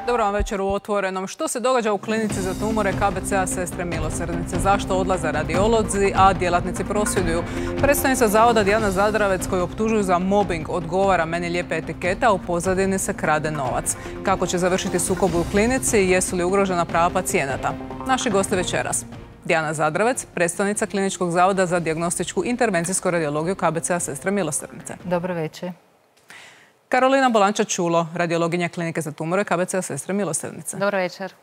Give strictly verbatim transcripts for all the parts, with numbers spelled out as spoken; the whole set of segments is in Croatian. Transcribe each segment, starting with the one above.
Dobro vam večer u Otvorenom. Što se događa u klinici za tumore K B C-a Sestre milosrdnice? Zašto odlaze radiolozi, a djelatnici prosvjeduju? Predstavnica zavoda Dijana Zadravec, koju optužuju za mobbing, odgovara: meni lijepe etikete, a u pozadini se krade novac. Kako će završiti sukob u klinici i jesu li ugrožena prava pacijenata? Naši gosti večeras: Dijana Zadravec, predstavnica Kliničkog zavoda za dijagnostičku intervencijsku radiologiju K B C-a Sestre milosrdnice. Dobro večer. Karolina Bolanča-Čulo, radiologinja Klinike za tumore K B C-a Sestre milosrdnice. Dobro večer.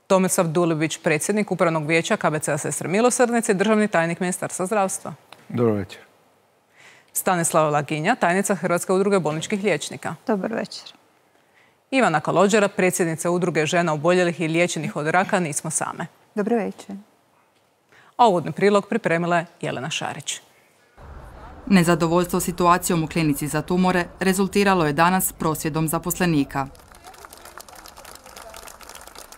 Tomislav Dulibić, predsjednik Upravnog vijeća K B C-a Sestre milosrdnice i državni tajnik Ministarstva zdravstva. Dobro večer. Stanislava Laginja, tajnica Hrvatske udruge bolničkih liječnika. Dobar večer. Ivana Kalođera, predsjednica Udruge žena oboljelih i liječenih od raka Nismo same. Dobro večer. A uvodni prilog pripremila je Jelena Šarić. Nezadovoljstvo situacijom u klinici za tumore rezultiralo je danas prosvjedom zaposlenika.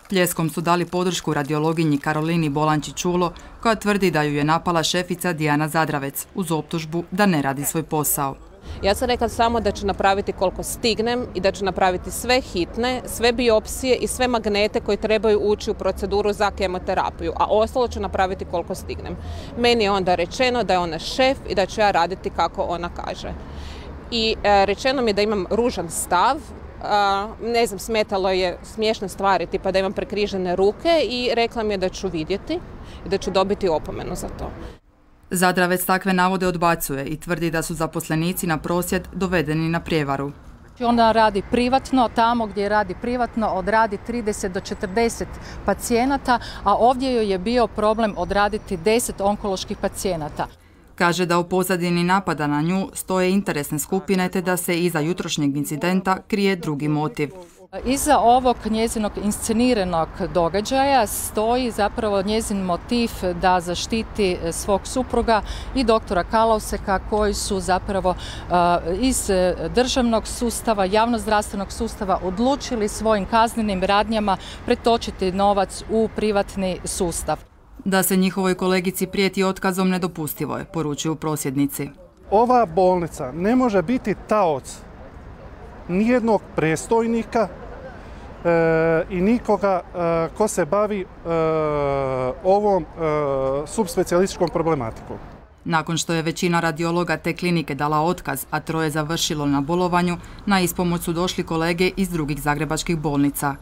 Pljeskom su dali podršku radiologinji Karolini Bolanči-Čulo, koja tvrdi da ju je napala šefica Dijana Zadravec uz optužbu da ne radi svoj posao. Ja sam rekla samo da ću napraviti koliko stignem i da ću napraviti sve hitne, sve biopsije i sve magnete koji trebaju ući u proceduru za kemoterapiju, a ostalo ću napraviti koliko stignem. Meni je onda rečeno da je ona šef i da ću ja raditi kako ona kaže. I e, rečeno mi je da imam ružan stav, a, ne znam, smetalo je smiješne stvari, tipa da imam prekrižene ruke, i rekla mi je da ću vidjeti i da ću dobiti opomenu za to. Zadravec takve navode odbacuje i tvrdi da su zaposlenici na prosvjed dovedeni na prijevaru. Ona radi privatno, tamo gdje radi privatno odradi trideset do četrdeset pacijenata, a ovdje joj je bio problem odraditi deset onkoloških pacijenata. Kaže da u pozadini napada na nju stoje interesne skupine te da se iza jutrošnjeg incidenta krije drugi motiv. Iza ovog njezinog insceniranog događaja stoji zapravo njezin motiv da zaštiti svog supruga i doktora Kalauseka, koji su zapravo iz državnog sustava, javnozdravstvenog sustava odlučili svojim kaznenim radnjama pretočiti novac u privatni sustav. Da se njihovoj kolegici prijeti otkazom nedopustivo je, poručuju prosvjednici. Ova bolnica ne može biti taoc nijednog predstojnika e, i nikoga e, ko se bavi e, ovom e, subspecijalističkom problematikom. Nakon što je većina radiologa te klinike dala otkaz, a troje završilo na bolovanju, na ispomoć su došli kolege iz drugih zagrebačkih bolnica.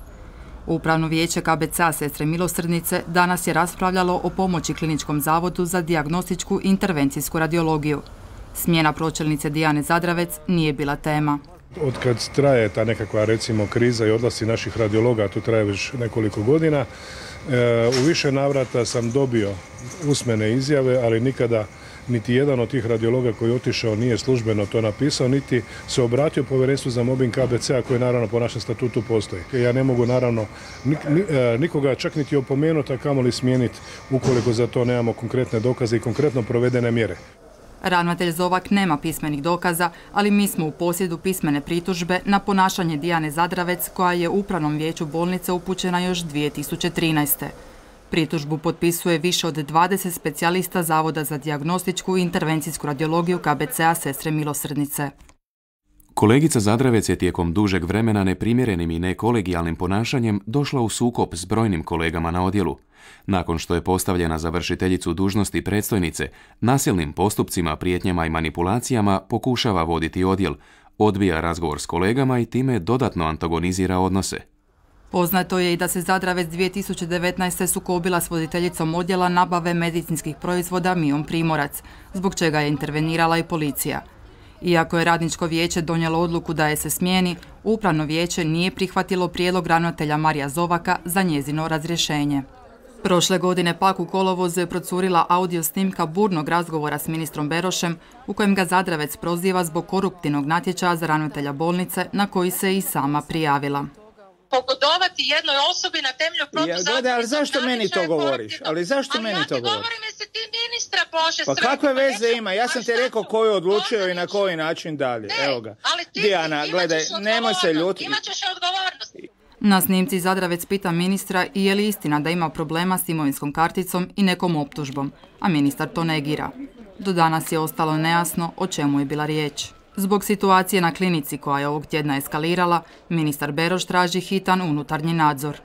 Upravno vijeće K B C-a Sestre milosrdnice danas je raspravljalo o pomoći Kliničkom zavodu za dijagnostičku intervencijsku radiologiju. Smjena pročelnice Dijane Zadravec nije bila tema. Od kad traje ta nekakva, recimo, kriza i odlasci naših radiologa, tu traje već nekoliko godina, u više navrata sam dobio usmene izjave, ali nikada niti jedan od tih radiologa koji je otišao nije službeno to napisao, niti se obratio Povjerenstvu za mobbing K B C-a koje naravno po našem statutu postoji. Ja ne mogu naravno nikoga čak niti opomenuti, a kamoli smijeniti ukoliko za to nemamo konkretne dokaze i konkretno provedene mjere. Ravnatelj Zovak nema pismenih dokaza, ali mi smo u posjedu pismene pritužbe na ponašanje Dijane Zadravec, koja je Upravnom vijeću bolnice upućena još dvije tisuće trinaeste. Pritužbu potpisuje više od dvadeset specijalista Zavoda za dijagnostičku i intervencijsku radiologiju K B C-a Sestre milosrdnice. Kolegica Zadravec je tijekom dužeg vremena neprimjerenim i nekolegijalnim ponašanjem došla u sukob s brojnim kolegama na odjelu. Nakon što je postavljena za vršiteljicu dužnosti predstojnice, nasilnim postupcima, prijetnjama i manipulacijama pokušava voditi odjel, odbija razgovor s kolegama i time dodatno antagonizira odnose. Poznato je i da se Zadravec dvije tisuće devetnaeste. sukobila s voditeljicom odjela nabave medicinskih proizvoda Mijom Primorac, zbog čega je intervenirala i policija. Iako je radničko vijeće donijelo odluku da je se smijeni, Upravno vijeće nije prihvatilo prijedlog ravnatelja Marija Zovaka za njezino razrješenje. Prošle godine pak u kolovozu je procurila audio snimka burnog razgovora s ministrom Berošem, u kojem ga Zadravec proziva zbog koruptivnog natječaja za ravnatelja bolnice, na koji se i sama prijavila. Pogodovati jednoj osobi na temelju protuzakonitog ja, ali zašto meni to govoriš? Ali zašto ali meni ja to govoriš? Govorim se ti ministra Bože. Pa kakve veze ima? Ja sam ti rekao ko je odlučio i na koji način dalje. Ne, evo ga. Ali ti, Dijana, ti gledaj, nemoj se ljutiti. Imat ćeš odgovornost. Na snimci Zadravec pita ministra i je li istina da ima problema s imovinskom karticom i nekom optužbom, a ministar to negira. Do danas je ostalo nejasno o čemu je bila riječ. Zbog situacije na klinici koja je ovog tjedna eskalirala, ministar Beroš traži hitan unutarnji nadzor.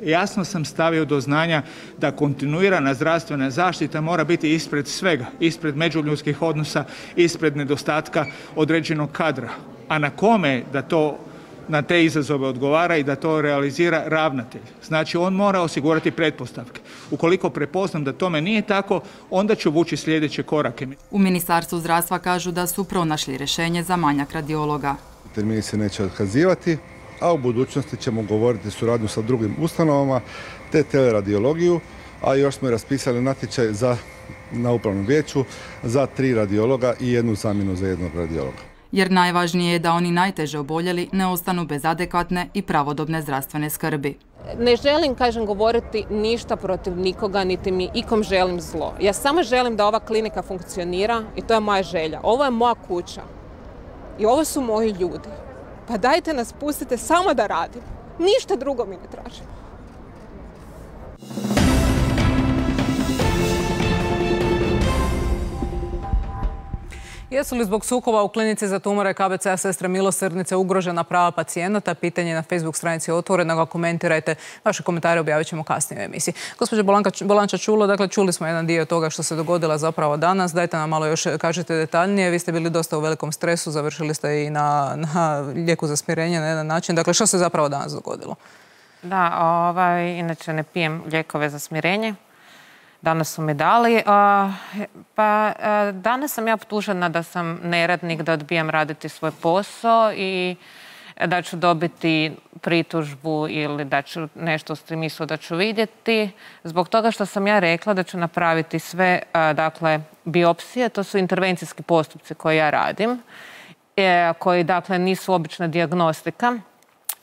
Jasno sam stavio do znanja da kontinuirana zdravstvena zaštita mora biti ispred svega, ispred međuljudskih odnosa, ispred nedostatka određenog kadra. A na kome da to na te izazove odgovara i da to realizira ravnatelj. Znači on mora osigurati pretpostavke. Ukoliko prepoznam da tome nije tako, onda ću vući sljedeće korake. U Ministarstvu zdravstva kažu da su pronašli rješenje za manjak radiologa. Termini se neće otkazivati, a u budućnosti ćemo govoriti suradnju sa drugim ustanovama te teleradiologiju, a još smo raspisali natječaj za, na upravnom vijeću za tri radiologa i jednu zamjenu za jednog radiologa. Jer najvažnije je da oni najteže oboljeli ne ostanu bez adekvatne i pravodobne zdravstvene skrbi. Ne želim, kažem, govoriti ništa protiv nikoga, niti mi ikom želim zlo. Ja samo želim da ova klinika funkcionira i to je moja želja. Ovo je moja kuća i ovo su moji ljudi. Pa dajte nas, pustite samo da radim. Ništa drugo mi ne tražim. Jesu li zbog sukoba u klinici za tumore K B C-a Sestre milosrdnice ugrožena prava pacijenata? Pitanje je na Facebook stranici Otvoreno. Komentirajte. Vaše komentare objavit ćemo kasnije u emisiji. Gospođo Bolanča Čulo, dakle, čuli smo jedan dio toga što se dogodilo zapravo danas. Dajte nam malo još kažete detaljnije. Vi ste bili dosta u velikom stresu, završili ste i na, na lijeku za smirenje na jedan način. Dakle, što se zapravo danas dogodilo? Da, ovaj, inače ne pijem lijekove za smirenje. Danas su mi dali. Pa danas sam ja optužena da sam neradnik, da odbijam raditi svoj posao i da ću dobiti pritužbu ili da ću nešto u smislu da ću vidjeti. Zbog toga što sam ja rekla da ću napraviti sve, dakle, biopsije, to su intervencijski postupci koje ja radim, koji, dakle, nisu obična dijagnostika,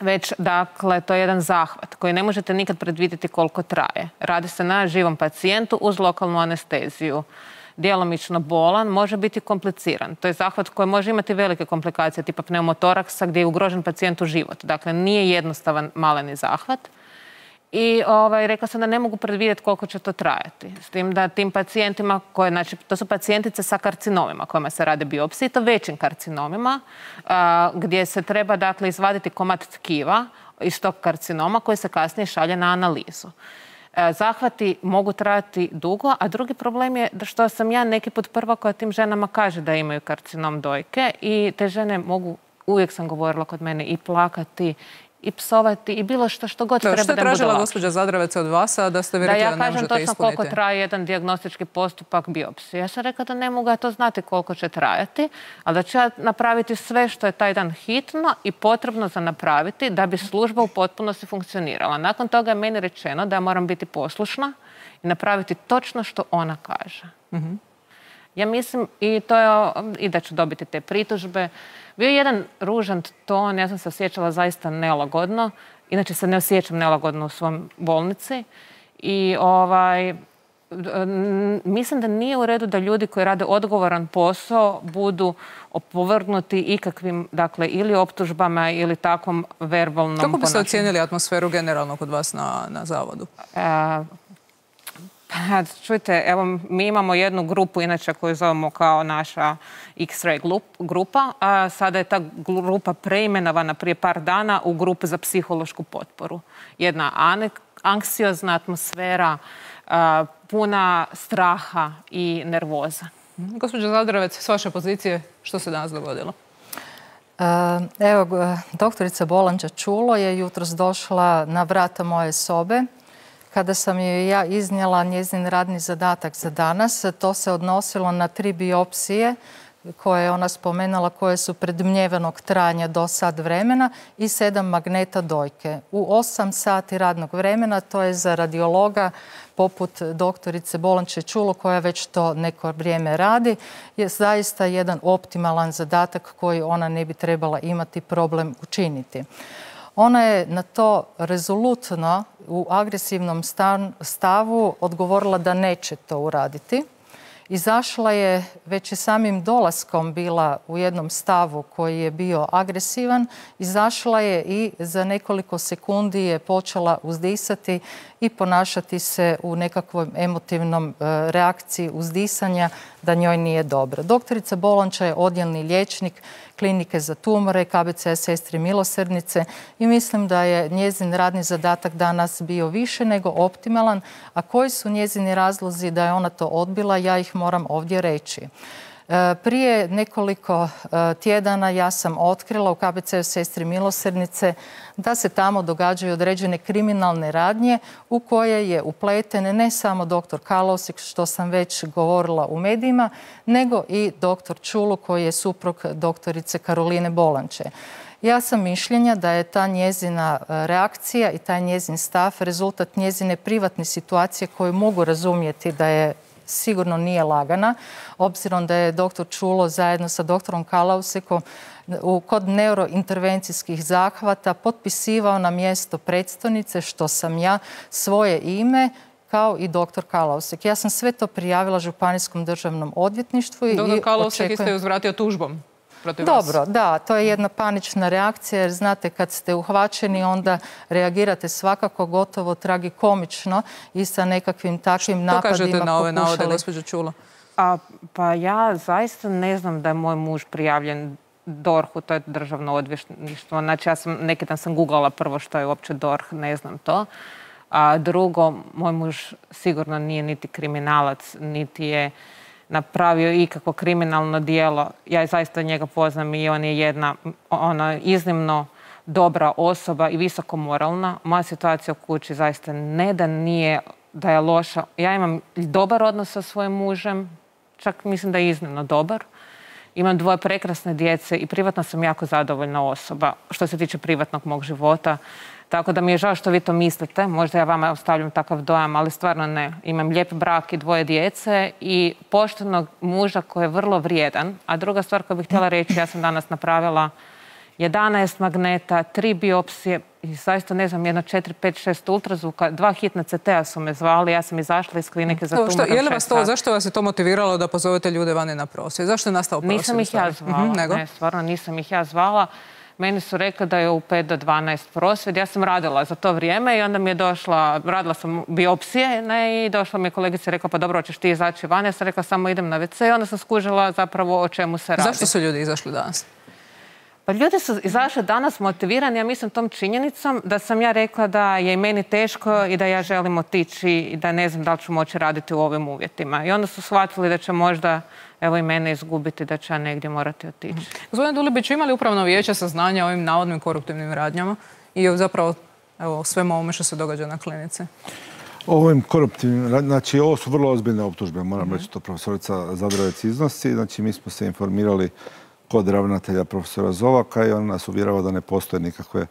već, dakle, to je jedan zahvat koji ne možete nikad predvidjeti koliko traje. Radi se na živom pacijentu uz lokalnu anesteziju. Djelomično bolan, može biti kompliciran. To je zahvat koji može imati velike komplikacije, tipa pneumotoraksa, gdje je ugrožen pacijentu život. Dakle, nije jednostavan maleni zahvat. I ovaj, rekla sam da ne mogu predvidjeti koliko će to trajati. S tim da tim pacijentima, koje, znači, to su pacijentice sa karcinomima kojima se rade biopsije, to većim karcinomima, a, gdje se treba, dakle, izvaditi komad tkiva iz tog karcinoma koji se kasnije šalje na analizu. A, zahvati mogu trajati dugo, a drugi problem je da što sam ja neki put prva koja tim ženama kaže da imaju karcinom dojke i te žene mogu, uvijek sam govorila kod mene, i plakati i psovati i bilo što što god treba da Što je budu tražila lakše. gospođa Zadravec od vas, a da ste vi Da rekli ja da ne kažem možete točno ispuniti? koliko traje jedan dijagnostički postupak biopsije. Ja sam rekla da ne mogu ja to znati koliko će trajati, ali da ću ja napraviti sve što je taj dan hitno i potrebno za napraviti da bi služba u potpunosti funkcionirala. Nakon toga je meni rečeno da ja moram biti poslušna i napraviti točno što ona kaže. Mhm. Ja mislim i to je, i da ću dobiti te pritužbe. Bio je jedan ružan ton, ja sam se osjećala zaista nelagodno. Inače se ne osjećam nelagodno u svom bolnici. I ovaj, mislim da nije u redu da ljudi koji rade odgovoran posao budu opovrgnuti ikakvim, dakle, ili optužbama ili takvom verbalnom Kako biste ponašanju. ocijenili atmosferu generalno kod vas na, na zavodu? E, Pa, čujte, evo, mi imamo jednu grupu, inače koju zovemo kao naša X-ray grupa, a sada je ta grupa preimenovana prije par dana u grupu za psihološku potporu. Jedna anksiozna atmosfera, a, puna straha i nervoza. Gospođo Zadravec, s vaše pozicije, što se danas dogodilo? Evo, doktorica Bolanča Čulo je jutros došla na vrata moje sobe. Kada sam joj ja iznijela njezin radni zadatak za danas, to se odnosilo na tri biopsije koje je ona spomenula, koje su predmnjevenog trajanja do sat vremena i sedam magneta dojke. U osam sati radnog vremena, to je za radiologa poput doktorice Bolanče Čulo, koja već to neko vrijeme radi, je zaista jedan optimalan zadatak koji ona ne bi trebala imati problem učiniti. Ona je na to rezolutno u agresivnom stavu odgovorila da neće to uraditi. Izašla je već i samim dolaskom bila u jednom stavu koji je bio agresivan. Izašla je i za nekoliko sekundi je počela uzdisati i ponašati se u nekakvom emotivnom reakciji uzdisanja da njoj nije dobro. Doktorica Bolonča je odjelni liječnik klinike za tumore K B C A Sestre milosrdnice i mislim da je njezin radni zadatak danas bio više nego optimalan, a koji su njezini razlozi da je ona to odbila, ja ih moram ovdje reći. Prije nekoliko tjedana ja sam otkrila u K B C A Sestre milosrdnice da se tamo događaju određene kriminalne radnje u koje je upleten ne samo doktor Kalausek, što sam već govorila u medijima, nego i doktor Čulu koji je suprug doktorice Karoline Bolanče. Ja sam mišljenja da je ta njezina reakcija i taj njezin stav rezultat njezine privatne situacije koju mogu razumjeti da je sigurno nije lagana, obzirom da je doktor Čulo zajedno sa doktorom Kalausekom kod neurointervencijskih zahvata potpisivao na mjesto predstojnice, što sam ja, svoje ime, kao i doktor Kalausek. Ja sam sve to prijavila Županijskom državnom odvjetništvu. Doktor Kalausek isto je uzvratio tužbom. Dobro, da, to je jedna panična reakcija jer znate kad ste uhvaćeni onda reagirate svakako gotovo tragikomično i sa nekakvim takvim napadima pokušali. Što kažete na ove navode, gospođo Čulo? Pa ja zaista ne znam da je moj muž prijavljen D O R H-u, to je državno odvjetništvo. Znači ja sam, neki dan sam googlala prvo što je uopće D O R H, ne znam to. A drugo, moj muž sigurno nije niti kriminalac, niti je napravio ikakvo kriminalno djelo. Ja zaista njega poznam i on je jedna ona, iznimno dobra osoba i visoko moralna. Moja situacija u kući zaista ne da nije, da je loša. Ja imam dobar odnos sa svojim mužem, čak mislim da je iznimno dobar. Imam dvoje prekrasne djece i privatno sam jako zadovoljna osoba što se tiče privatnog mog života. Tako da mi je žao što vi to mislite. Možda ja vama ostavljam takav dojam, ali stvarno ne. Imam lijep brak i dvoje djece i poštenog muža koji je vrlo vrijedan. A druga stvar koju bih htjela reći, ja sam danas napravila jedanaest magneta, tri biopsije i zaista ne znam, jedno četiri, pet, šest ultrazvuka, dva hitna C T-a su me zvali, ja sam izašla iz klinike za tumorom je li vas to, zašto vas je to motiviralo da pozovete ljude vani na prosvjed? Zašto je nastao prosvjed? Nisam ih ja zvala, ne, stvarno nisam ih ja zvala. Meni su rekli da je u pet do dvanaest prosvjed. Ja sam radila za to vrijeme i onda mi je došla, radila sam biopsije ne, i došla mi je kolegica i rekla pa dobro, hoćeš ti izaći van? Ja sam rekla samo idem na ve ce i onda sam skužila zapravo o čemu se radi. Zašto su ljudi izašli danas? Pa ljudi su izašli danas motivirani, ja mislim tom činjenicom da sam ja rekla da je i meni teško i da ja želim otići i da ne znam da li ću moći raditi u ovim uvjetima. I onda su shvatili da će možda evo i mene izgubiti, da će ja negdje morati otići. Gospodine Dulibić, imali upravno vijeće saznanja o ovim navodnim koruptivnim radnjama i zapravo evo, svemu ovome što se događa na klinici? Ovim koruptivnim radnjama, znači ovo su vrlo ozbiljne optužbe, moram reći to profesorica Zadravec iznosi. Znači mi smo se informirali kod ravnatelja profesora Zovaka i on nas uvjerava da ne postoje nikakve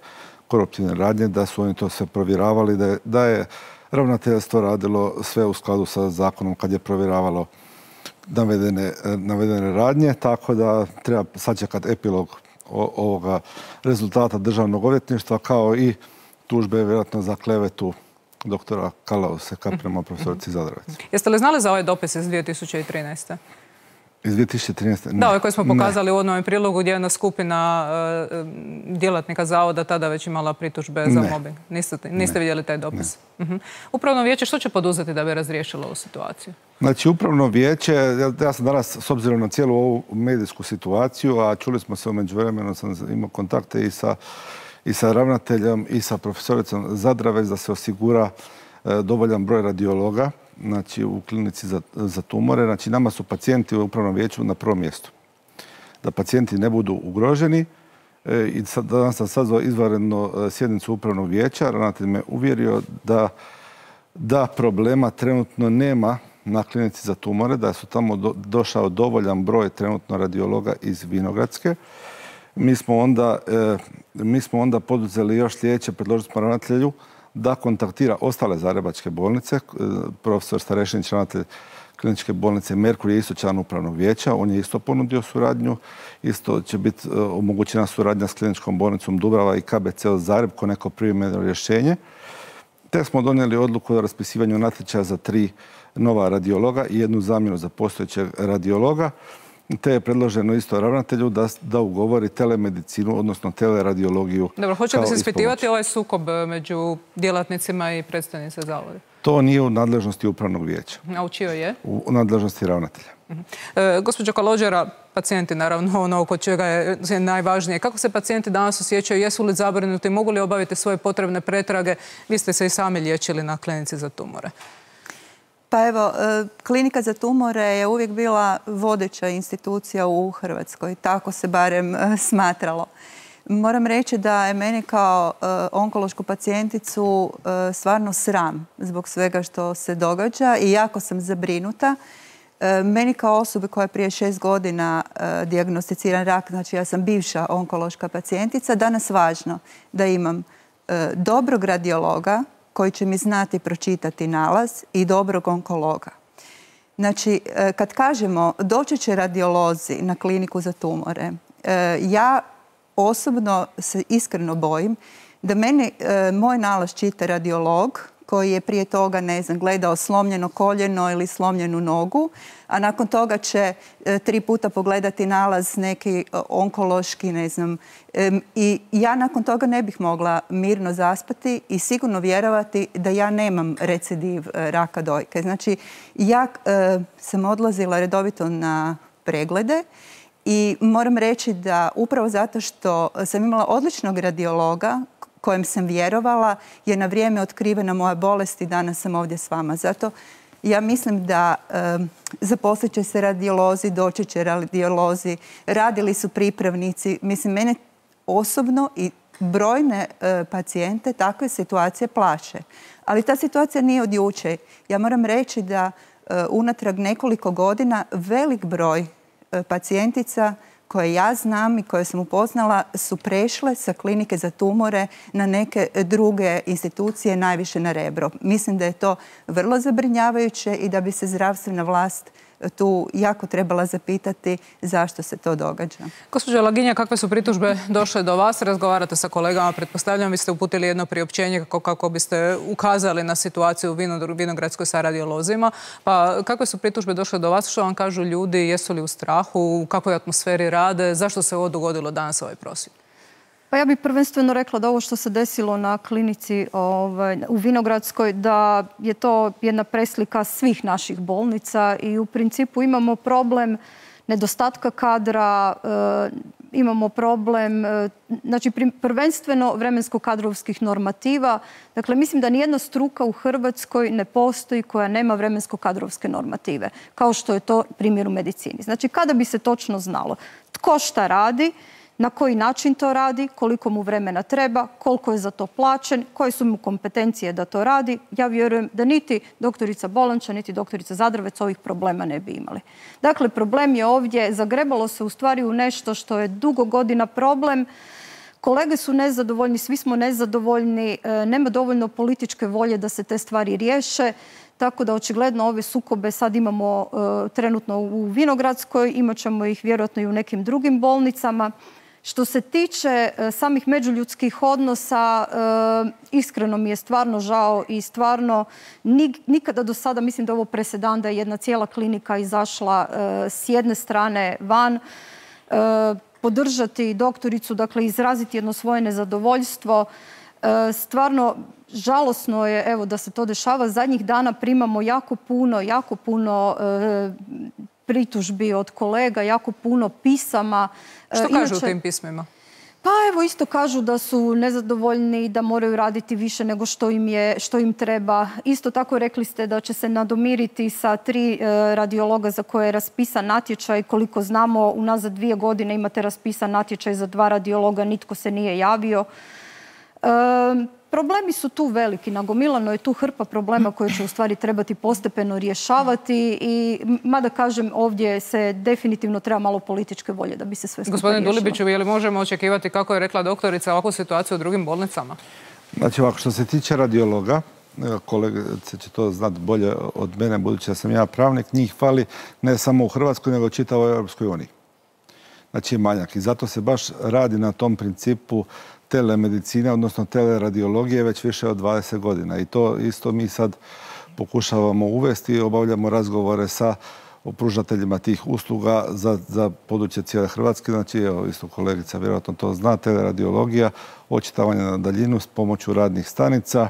koruptivne radnje, da su oni to sve provjeravali, da je, da je ravnateljstvo radilo sve u skladu sa zakonom kad je provjeravalo navedene, navedene radnje, tako da treba sačekati epilog ovoga rezultata državnog odvjetništva kao i tužbe vjerojatno za klevetu doktora Kalauseka prema profesorici Zadravec. Jeste li znali za ovaj dopis iz dvije tisuće trinaeste? Iz dvije tisuće trinaeste? Da, ovaj koji smo pokazali u odnom prilogu gdje je jedna skupina uh, djelatnika zavoda tada već imala pritužbe za mobbing. Niste, niste vidjeli taj dopis? Uh -huh. Upravno vijeće što će poduzeti da bi razriješilo ovu situaciju? Znači, upravno vijeće, ja, ja sam danas, s obzirom na cijelu ovu medijsku situaciju, a čuli smo se u međuvremenu, sam imao kontakte i sa, i sa ravnateljem i sa profesoricom Zadravec da se osigura e, dovoljan broj radiologa, znači u klinici za, za tumore. Znači, nama su pacijenti u upravnom vijeću na prvom mjestu. Da pacijenti ne budu ugroženi. E, I sad, danas sam sazvao izvanrednu sjednicu upravnog vijeća. Ravnatelj me uvjerio da, da problema trenutno nema na klinici za tumore, da su tamo do, došao dovoljan broj trenutno radiologa iz Vinogradske. Mi smo onda, e, mi smo onda poduzeli još sljedeće, predložili smo ravnatelju da kontaktira ostale zagrebačke bolnice. Profesor Starešinić, ravnatelj kliničke bolnice Merkur, je isto član upravnog vijeća. On je isto ponudio suradnju. Isto će biti omogućena suradnja s kliničkom bolnicom Dubrava i K B C O Zagreb ko neko privremeno rješenje. Te smo donijeli odluku o raspisivanju natječaja za tri nova radiologa i jednu zamjenu za postojećeg radiologa. te je predloženo isto ravnatelju da, da ugovori telemedicinu, odnosno teleradiologiju. Dobro, hoće li se ispitivati ovaj sukob među djelatnicima i predstojnice zavoda? To nije u nadležnosti upravnog vijeća. A u čijoj je? U nadležnosti ravnatelja. E, gospođo Kalođera, pacijenti naravno ono kod čega je najvažnije. Kako se pacijenti danas osjećaju? Jesu li zabrinuti? Mogu li obaviti svoje potrebne pretrage? Vi ste se i sami liječili na klinici za tumore. Pa evo, klinika za tumore je uvijek bila vodeća institucija u Hrvatskoj. Tako se barem smatralo. Moram reći da je meni kao onkološku pacijenticu stvarno sram zbog svega što se događa i jako sam zabrinuta. Meni kao osobi koja je prije šest godina dijagnosticiran rak, znači ja sam bivša onkološka pacijentica, danas važno da imam dobrog radiologa koji će mi znati pročitati nalaz i dobrog onkologa. Znači, kad kažemo doći će radiolozi na kliniku za tumore, ja osobno se iskreno bojim da meni moj nalaz čita radiolog koji je prije toga, ne znam, gledao slomljeno koljeno ili slomljenu nogu, a nakon toga će tri puta pogledati nalaz neki onkološki, ne znam. I ja nakon toga ne bih mogla mirno zaspati i sigurno vjerovati da ja nemam recidiv raka dojke. Znači, ja sam odlazila redovito na preglede i moram reći da upravo zato što sam imala odličnog radiologa kojem sam vjerovala, je na vrijeme otkrivena moja bolest i danas sam ovdje s vama. Zato ja mislim da e, zaposlit će se radiolozi, doći će radiolozi, radili su pripravnici. Mislim, mene osobno i brojne e, pacijente takve situacije plaše. Ali ta situacija nije od jučer. Ja moram reći da e, unatrag nekoliko godina velik broj e, pacijentica koje ja znam i koje sam upoznala su prešle sa klinike za tumore na neke druge institucije, najviše na Rebro. Mislim da je to vrlo zabrinjavajuće i da bi se zdravstvena vlast tu jako trebala zapitati zašto se to događa. Gospođo Laginja, kakve su pritužbe došle do vas? Razgovarate sa kolegama, pretpostavljam, vi ste uputili jedno priopćenje kako, kako biste ukazali na situaciju u Vinogradskoj sa radiolozima. Pa kakve su pritužbe došle do vas? Što vam kažu ljudi? Jesu li u strahu? U kakvoj atmosferi rade? Zašto se ovo dogodilo danas ovaj prosvjed? Pa ja bih prvenstveno rekla da ovo što se desilo na klinici ovaj, u Vinogradskoj, da je to jedna preslika svih naših bolnica i u principu imamo problem nedostatka kadra, e, imamo problem, e, znači prvenstveno vremensko-kadrovskih normativa. Dakle, mislim da nijedna struka u Hrvatskoj ne postoji koja nema vremensko-kadrovske normative, kao što je to primjer u medicini. Znači, kada bi se točno znalo tko šta radi, na koji način to radi, koliko mu vremena treba, koliko je za to plaćen, koje su mu kompetencije da to radi, ja vjerujem da niti doktorica Bolanča, niti doktorica Zadravec ovih problema ne bi imali. Dakle, problem je ovdje, zagrebalo se u stvari u nešto što je dugo godina problem. Kolege su nezadovoljni, svi smo nezadovoljni, nema dovoljno političke volje da se te stvari riješe. Tako da očigledno ove sukobe sad imamo uh, trenutno u Vinogradskoj, imat ćemo ih vjerojatno i u nekim drugim bolnicama. Što se tiče uh, samih međuljudskih odnosa, uh, iskreno mi je stvarno žao i stvarno nik, nikada do sada, mislim da je ovo presedan da je jedna cijela klinika izašla uh, s jedne strane van, uh, podržati doktoricu, dakle izraziti jedno svoje nezadovoljstvo. Uh, stvarno žalosno je evo da se to dešava. Zadnjih dana primamo jako puno, jako puno e, pritužbi od kolega, jako puno pisama. Što kažu Inače, u tim pismima? Pa evo isto kažu da su nezadovoljni, da moraju raditi više nego što im je, što im treba. Isto tako rekli ste da će se nadomiriti sa tri e, radiologa za koje je raspisan natječaj. Koliko znamo, unazad dvije godine imate raspisan natječaj za dva radiologa, nitko se nije javio. E, Problemi su tu veliki, nagomilano je tu hrpa problema koje će u stvari trebati postepeno rješavati i mada kažem ovdje se definitivno treba malo političke volje da bi se sve skupa riješilo. Gospodine Dulibiću, je li možemo očekivati, kako je rekla doktorica, ovakvu situaciju u drugim bolnicama? Znači ovako, što se tiče radiologa, kolegice će to znati bolje od mene, budući da sam ja pravnik, njih fali ne samo u Hrvatskoj, nego u čitavoj Europskoj uniji. Znači je manjak i zato se baš radi na tom principu telemedicine, odnosno teleradiologije već više od dvadeset godina. I to isto mi sad pokušavamo uvesti i obavljamo razgovore sa o pružateljima tih usluga za, za područje cijele Hrvatske. Znači, evo, isto kolegica vjerojatno to zna, teleradiologija, očitavanje na daljinu s pomoću radnih stanica.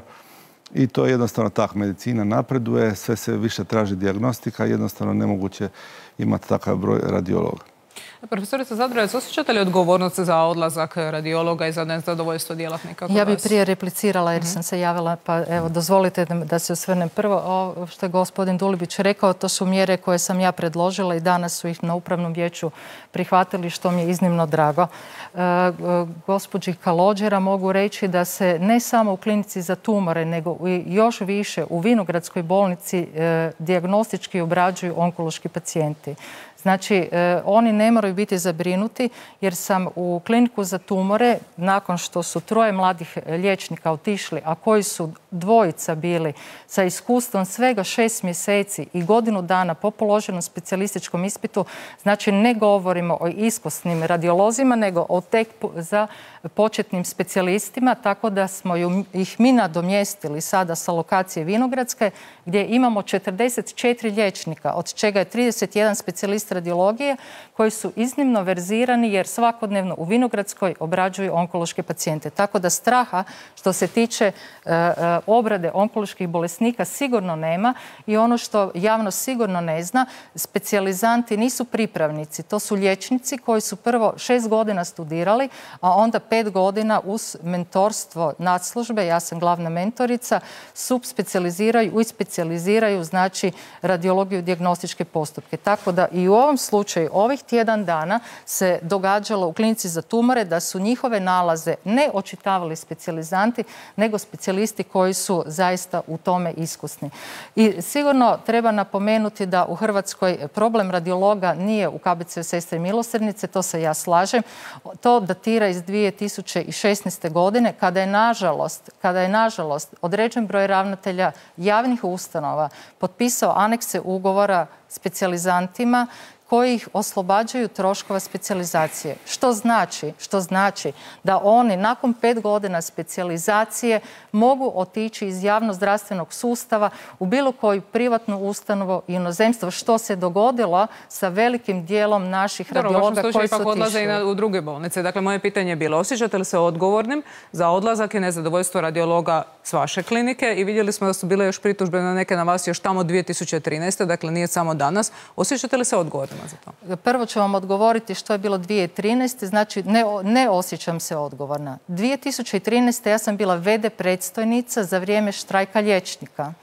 I to je jednostavno tak. Medicina napreduje, sve se više traži dijagnostika, jednostavno nemoguće imati takav broj radiologa. Profesorica Zadravec, osjećate li odgovornost za odlazak radiologa i za nezadovoljstvo djelatnika kod vas? Ja bih prije replicirala jer sam se javila, pa evo dozvolite da se osvrnem. Prvo, ovo što je gospodin Dulibić rekao, to su mjere koje sam ja predložila i danas su ih na Upravnom vijeću prihvatili, što mi je iznimno drago. E, gospođi Kalođera mogu reći da se ne samo u klinici za tumore, nego i još više u Vinogradskoj bolnici e, dijagnostički obrađuju onkološki pacijenti. Znači, e, oni ne moraju biti zabrinuti jer sam u kliniku za tumore, nakon što su troje mladih liječnika otišli, a koji su dvojica bili sa iskustvom svega šest mjeseci i godinu dana po položenom specijalističkom ispitu, znači ne govorimo o iskusnim radiolozima, nego o tek za početnim specijalistima, tako da smo ih mi nadomjestili sada sa lokacije Vinogradske, gdje imamo četrdeset četiri liječnika, od čega je trideset jedan specijalist radiologije, koji su iznimno verzirani jer svakodnevno u Vinogradskoj obrađuju onkološke pacijente. Tako da straha što se tiče e, e, obrade onkoloških bolesnika sigurno nema i ono što javnost sigurno ne zna, specijalizanti nisu pripravnici, to su liječnici koji su prvo šest godina studirali, a onda pet godina uz mentorstvo nadslužbe, ja sam glavna mentorica, subspecijaliziraju i specijaliziraju znači radiologiju i dijagnostičke postupke. Tako da i u ovom slučaju ovih tjedan dana se događalo u klinici za tumore da su njihove nalaze ne očitavali specijalizanti, nego specijalisti koji su zaista u tome iskusni. I sigurno treba napomenuti da u Hrvatskoj problem radiologa nije u K B C-u Sestre milosrdnice, to se ja slažem. To datira iz dvije tisuće šesnaeste. godine kada je nažalost, kada je nažalost određen broj ravnatelja javnih ustanova potpisao anekse ugovora specijalizantima koji ih oslobađaju troškova specijalizacije. Što znači? Što znači da oni nakon pet godina specijalizacije mogu otići iz javnozdravstvenog sustava u bilo koju privatnu ustanovu i inozemstvo, što se dogodilo sa velikim dijelom naših radiologa koji su otišli. Odlaze i u druge bolnice. Dakle, moje pitanje je bilo, osjećate li se odgovornim za odlazak i nezadovoljstvo radiologa s vaše klinike? I vidjeli smo da su bile još pritužbe na neke na vas još tamo dvije tisuće trinaeste. Dakle, nije samo danas. Osjećate li se odgovornim za to? Prvo ću vam odgovoriti što je bilo dvije tisuće trinaeste. Znači, ne, ne osjećam se odgovorna. dvije tisuće trinaeste. ja sam bila ve de predstojnica za vrijeme štrajka liječnika.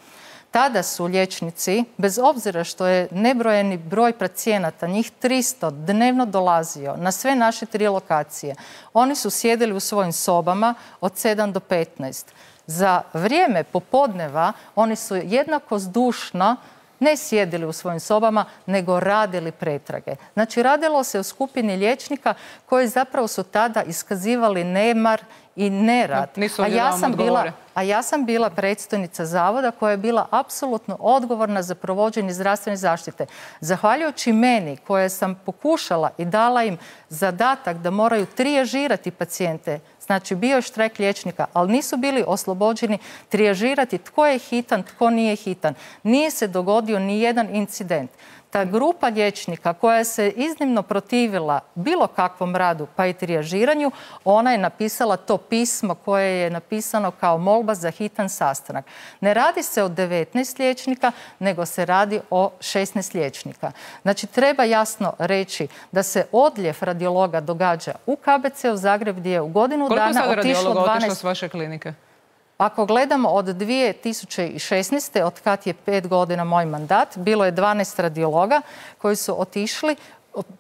Tada su liječnici, bez obzira što je nebrojeni broj pacijenata, njih tristo, dnevno dolazio na sve naše tri lokacije, oni su sjedili u svojim sobama od sedam do petnaest. Za vrijeme popodneva oni su jednako zdušno ne sjedili u svojim sobama, nego radili pretrage. Znači, radilo se u skupini liječnika koji zapravo su tada iskazivali nemar i nerad. Nisu a, ja sam bila, a ja sam bila predstojnica zavoda koja je bila apsolutno odgovorna za provođenje zdravstvene zaštite. Zahvaljujući meni koja sam pokušala i dala im zadatak da moraju trijažirati pacijente, znači bio je štrajk liječnika, ali nisu bili oslobođeni trijažirati tko je hitan, tko nije hitan. Nije se dogodio ni jedan incident. Ta grupa liječnika koja se iznimno protivila bilo kakvom radu pa i trijažiranju, ona je napisala to pismo koje je napisano kao molba za hitan sastanak. Ne radi se o devetnaest liječnika, nego se radi o šesnaest liječnika. Znači, treba jasno reći da se odljev radiologa događa u K B C-u Zagreb gdje je u godinu Koliko dana sad otišlo radiologa dvanaest... otišlo s vaše klinike? Ako gledamo od dvije tisuće šesnaeste. od kad je pet godina moj mandat, bilo je dvanaest radiologa koji su otišli.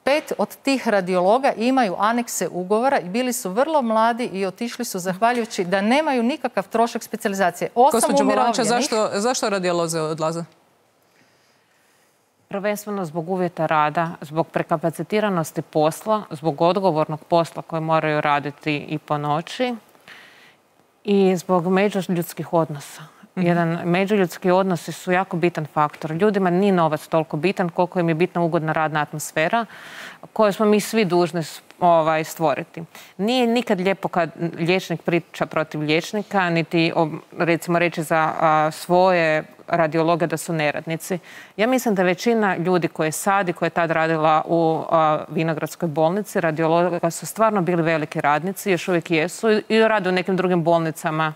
Pet od tih radiologa imaju anekse ugovora i bili su vrlo mladi i otišli su zahvaljujući da nemaju nikakav trošak specijalizacije. Osam umirovljenih. Zašto, zašto radioloze odlaze? Prvenstveno zbog uvjeta rada, zbog prekapacitiranosti posla, zbog odgovornog posla koje moraju raditi i po noći i zbog međuljudskih odnosa. Jedan međuljudski odnosi su jako bitan faktor. Ljudima nije novac toliko bitan koliko im je bitna ugodna radna atmosfera koju smo mi svi dužni ovaj, stvoriti. Nije nikad lijepo kad liječnik priča protiv liječnika, niti recimo reći za a, svoje radiologe da su neradnici. Ja mislim da većina ljudi koje sad i koje je tad radila u a, Vinogradskoj bolnici, radiologa su stvarno bili veliki radnici, još uvijek jesu i rade u nekim drugim bolnicama.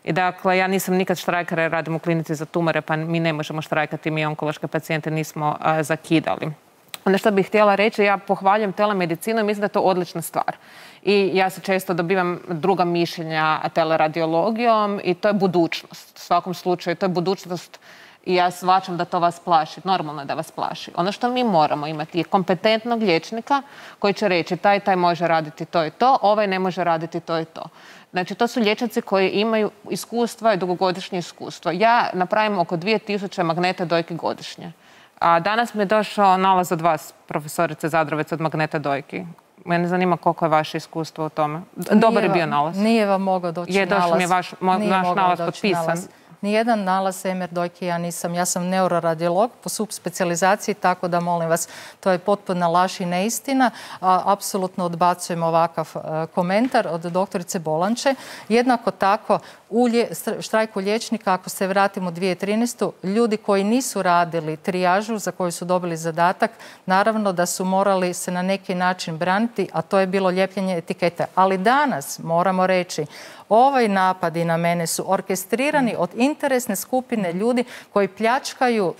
I dakle, ja nisam nikad štrajkara jer radim u klinici za tumore, pa mi ne možemo štrajkati, mi onkološke pacijente nismo a, zakidali. Ono što bih htjela reći, ja pohvaljujem telemedicinu i mislim da je to odlična stvar. I ja se često dobivam druga mišljenja teleradiologijom i to je budućnost. U svakom slučaju, to je budućnost i ja shvaćam da to vas plaši. Normalno je da vas plaši. Ono što mi moramo imati je kompetentnog liječnika koji će reći taj, taj može raditi to i to, ovaj ne može raditi to i to. Znači, to su liječnici koji imaju iskustva i dugogodišnje iskustvo. Ja napravim oko dvije tisuće magneta dojki godišnje. A danas mi je došao nalaz od vas, profesorice Zadravec, od magneta dojki. Mene zanima koliko je vaše iskustvo u tome. Dobar je bio nalaz. Nije vam mogao doći nalaz. Je, došao mi je vaš nalaz potpisan. Nijedan nalaz em er dojke ja nisam. Ja sam neuroradiolog po subspecijalizaciji, tako da molim vas, to je potpuna laž i neistina. Apsolutno odbacujem ovakav komentar od doktorice Bolanče. Jednako tako, u štrajku liječnika, ako se vratimo u dvije tisuće trinaestu. ljudi koji nisu radili trijažu za koju su dobili zadatak, naravno da su morali se na neki način braniti, a to je bilo ljepljenje etikete. Ali danas moramo reći, ovaj napadi na mene su orkestrirani od interesne skupine ljudi koji pljačkaju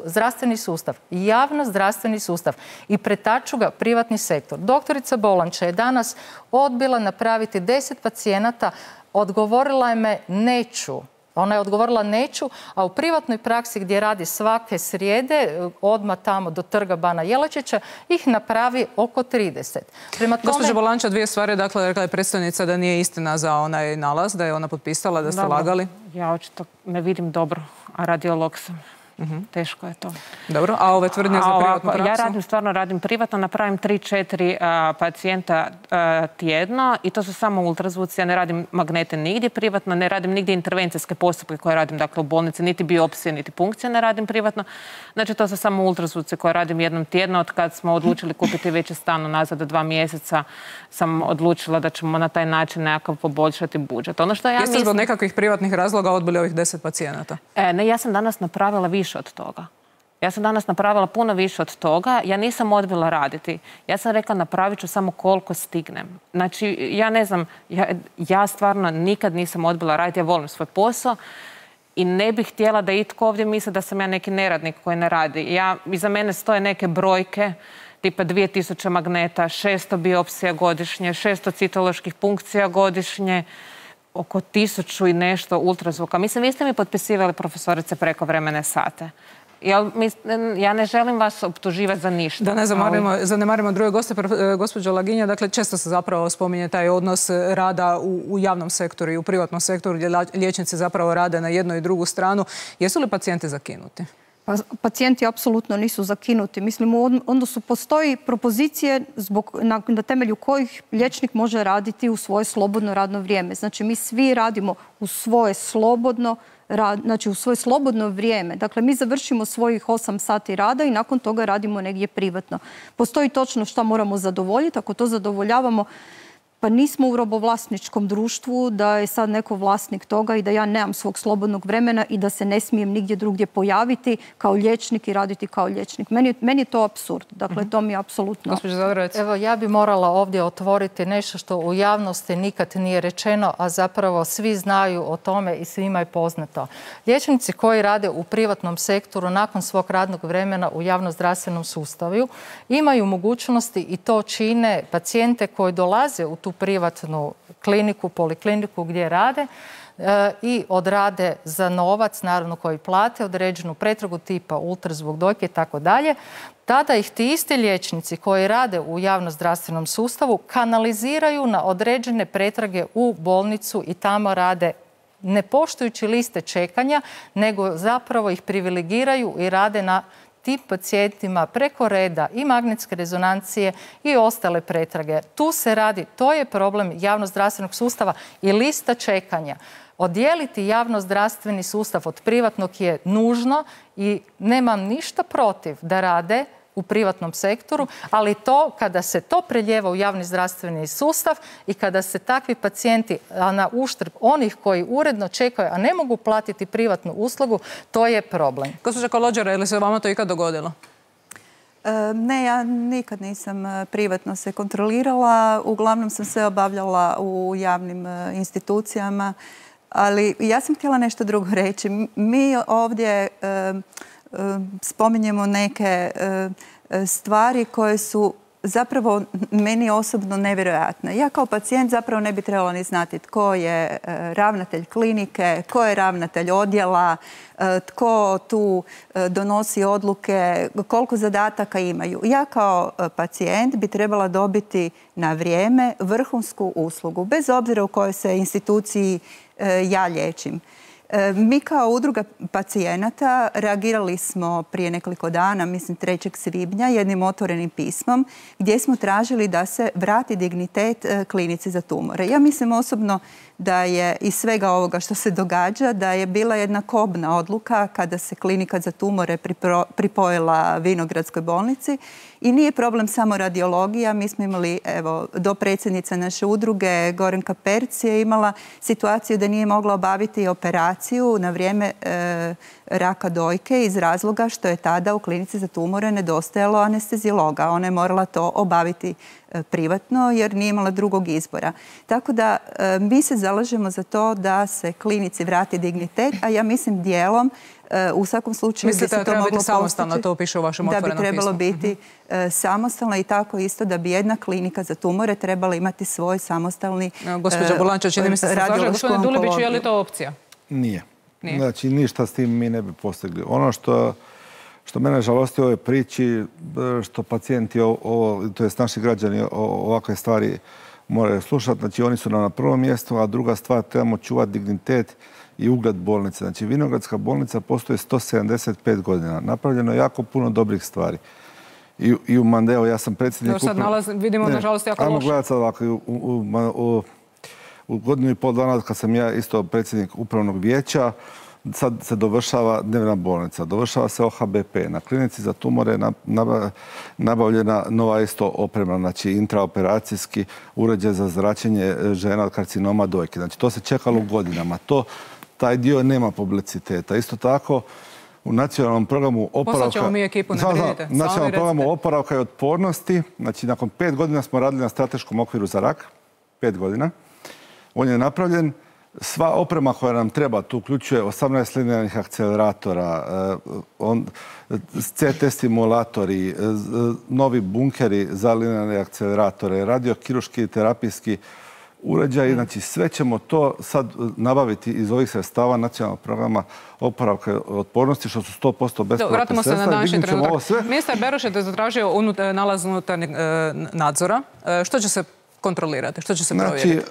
zdravstveni sustav, javno zdravstveni sustav i pretaču ga privatni sektor. Doktorica Bolanča je danas odbila napraviti deset pacijenata, odgovorila je me neću. Ona je odgovorila neću, a u privatnoj praksi gdje radi svake srijede, odmah tamo do trga Bana Jelačića, ih napravi oko trideset. Prema tome... Gospođo Bolanča, dvije stvari. Dakle, rekla je predstojnica da nije istina za onaj nalaz, da je ona potpisala, da ste dobro. lagali. Ja očito ne vidim dobro, a radiolog sam. Uh-huh. Teško je to. Dobro, a ove tvrdnje za privatnu praksu? Ja radim, stvarno radim privatno, napravim tri četiri pacijenta a, tjedno i to su samo ultrazvuci. Ja ne radim magnete nigdje privatno, ne radim nigdje intervencijske postupke koje radim dakle, u bolnici, niti biopsije, niti punkcije ne radim privatno. Znači to su samo ultrazvuci koje radim jednom tjedno. Od kad smo odlučili kupiti veći stan unazad do dva mjeseca sam odlučila da ćemo na taj način nekako poboljšati budžet. Ono što ja Jeste mislim... zbog nekakvih privatnih razloga odbili ovih deset pacijenata? E, ne, ja sam danas napravila više od toga. Ja sam danas napravila puno više od toga. Ja nisam odbila raditi. Ja sam rekla napravit ću samo koliko stignem. Znači, ja ne znam, ja, ja stvarno nikad nisam odbila raditi. Ja volim svoj posao i ne bih htjela da itko ovdje misli da sam ja neki neradnik koji ne radi. Ja, iza mene stoje neke brojke, tipa dvije tisuće magneta, šesto biopsija godišnje, šesto citoloških punkcija godišnje, oko tisuću i nešto ultrazvuka. Mislim, vi ste mi potpisivali, profesorice, prekovremene sate. Ja ne želim vas optuživati za ništa. Da ne zanemarimo druge goste, gospođo Laginja, dakle često se zapravo spominje taj odnos rada u javnom sektoru i u privatnom sektoru gdje liječnici zapravo rade na jednu i drugu stranu. Jesu li pacijenti zakinuti? Pa, pacijenti apsolutno nisu zakinuti. Mislim, u odnosu postoji propozicije zbog, na, na temelju kojih liječnik može raditi u svoje slobodno radno vrijeme. Znači, mi svi radimo u svoje slobodno Rad, znači u svoje slobodno vrijeme. Dakle, mi završimo svojih osam sati rada i nakon toga radimo negdje privatno. Postoji točno šta moramo zadovoljiti. Ako to zadovoljavamo, pa nismo u robovlasničkom društvu da je sad neko vlasnik toga i da ja nemam svog slobodnog vremena i da se ne smijem nigdje drugdje pojaviti kao liječnik i raditi kao liječnik. Meni, meni je to apsurd. Dakle, to mi je apsolutno... Evo, ja bi morala ovdje otvoriti nešto što u javnosti nikad nije rečeno, a zapravo svi znaju o tome i svima je poznato. Liječnici koji rade u privatnom sektoru nakon svog radnog vremena u javnozdravstvenom sustavu imaju mogućnosti i to čine pacijente koji dolaze u tu privatnu kliniku, polikliniku gdje rade i odrade za novac, naravno koji plate, određenu pretragu tipa ultrazvuk dojke i tako dalje. Tada ih ti isti liječnici koji rade u javnozdravstvenom sustavu kanaliziraju na određene pretrage u bolnicu i tamo rade ne poštujući liste čekanja, nego zapravo ih privilegiraju i rade na tim pacijentima preko reda i magnetske rezonancije i ostale pretrage. Tu se radi, to je problem javnozdravstvenog sustava i lista čekanja. Odijeliti javno-zdravstveni sustav od privatnog je nužno i nemam ništa protiv da rade u privatnom sektoru, ali to kada se to preljeva u javni zdravstveni sustav i kada se takvi pacijenti, a na uštrb onih koji uredno čekaju, a ne mogu platiti privatnu uslugu, to je problem. Gospođa Kalođera, je li se vama to ikad dogodilo? Ne, ja nikad nisam privatno se kontrolirala. Uglavnom sam sve obavljala u javnim institucijama. Ali ja sam htjela nešto drugo reći. Mi ovdje spominjemo neke stvari koje su zapravo meni osobno nevjerojatne. Ja kao pacijent zapravo ne bi trebala ni znati tko je ravnatelj klinike, tko je ravnatelj odjela, tko tu donosi odluke, koliko zadataka imaju. Ja kao pacijent bi trebala dobiti na vrijeme vrhunsku uslugu, bez obzira u kojoj se instituciji ja liječim. Mi kao udruga pacijenata reagirali smo prije nekoliko dana, mislim trećeg svibnja, jednim otvorenim pismom gdje smo tražili da se vrati dignitet klinici za tumore. Ja mislim osobno da je iz svega ovoga što se događa, da je bila jedna kobna odluka kada se klinika za tumore pripojila Vinogradskoj bolnici. I nije problem samo radiologija. Mi smo imali, evo, dopredsjednica naše udruge, Gorenka Perc, je imala situaciju da nije mogla obaviti operaciju na vrijeme e, raka dojke iz razloga što je tada u klinici za tumore nedostajalo anesteziologa. Ona je morala to obaviti e, privatno jer nije imala drugog izbora. Tako da e, mi se zalažemo za to da se klinici vrati dignitet, a ja mislim dijelom u svakom slučaju mislite da treba biti samostalno, to piše u vašem otvorenom pismu. Da bi trebalo biti samostalno i tako isto da bi jedna klinika za tumore trebala imati svoj samostalni radiološku onkologiju. Gospođa Bulanča, čini mi se se slaže. Gospodine Dulibiću, je li to opcija? Nije. Znači, ništa s tim mi ne bi postigli. Ono što što mene žalosti u ovoj priči, što pacijenti, to jest naši građani, ovakve stvari moraju slušati. Znači, oni su nam na prvom mjestu, a druga stvar, trebamo čuvati dignitet i ugled bolnice. Znači, Vinogradska bolnica postoji sto sedamdeset pet godina. Napravljeno je jako puno dobrih stvari. I, i u Mandeo, ja sam predsjednik... Sad nalaz, vidimo, ne, nažalost, jako loše. Ajmo gledati sad ovako. U, u, u, u godinu i pol dana, kad sam ja isto predsjednik upravnog vijeća, sad se dovršava dnevna bolnica, dovršava se O H B P. Na klinici za tumore je nabavljena nova isto oprema, znači intraoperacijski uređaj za zračenje žena od karcinoma dojke. Znači, to se čekalo godinama. To taj dio nema publiciteta. Isto tako, u nacionalnom programu oporavka... Poslaćemo mi ekipu, ne brinite. U nacionalnom programu oporavka i otpornosti, znači nakon pet godina smo radili na strateškom okviru za rak, pet godina. On je napravljen. Sva oprema koja nam treba, tu uključuje osamnaest linearnih akceleratora, C T stimulatori, novi bunkeri za linearne akceleratore, radiokiruški i terapijski uređaj. Znači, sve ćemo to sad nabaviti iz ovih sredstava nacionalnog programa oporavka i otpornosti, što su sto posto besplatne sredstva. Vratimo se na današnji trenutak. Ministar Beroš je zatražio nalaz unutarnjeg nadzora. Što će se kontrolirati? Što će se provjeriti? Znači,